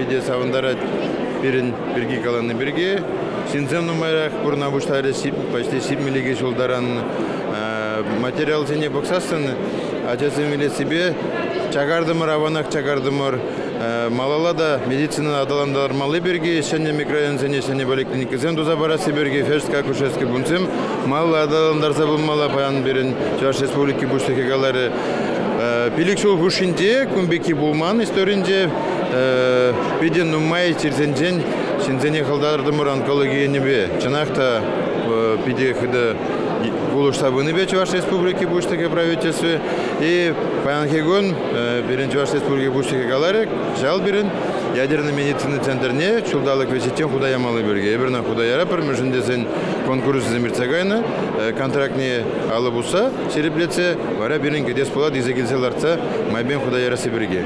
Питӗ савӑнтарать пирӗн пирки калани пирки. Ҫынсем нумайрах пурӑна пуҫларӗҫ, почти 72 ҫул таран. Материалсене пӑхсассӑн ачасем вилессипе чакартӑмӑр, аванах чакартӑмӑр. Малалла та медицина аталантармалли пирки ҫӗнӗ микрорайонсене ҫӗнӗ поликлиникӑсем туса парасси пирки фельдшерско-акушерский пунктсем малалла аталантарса пымалла. Паян пирӗн Чӑваш Республики Пуҫлӑхӗ каларӗ, 5 ҫул хушшинче кун пекки пулман историнче, питӗ нумай чирсенчен ҫынсене хӑлтартӑмӑр онкологи енӗпе. Чӑнах та питӗ хытӑ пулӑшса пынипе Чӑваш Республики Пуҫлӑхӗ правительстви. И паянхи кун пирӗн Чӑваш Республики Пуҫлӑхӗ каларӗ, кӑҫал пирӗн ядернӑй медицина центрне ҫулталӑк вӗҫӗччен хута ямалли пирки. Эпир ӑна хута яратпӑр, мӗншӗн тесен конкурссем иртсе кайнӑ, контрактне алӑ пусса ҫирӗплетсе вара пирӗн кӗтес пулать илсе килсе лартса майӗпен хута ярасси пирки.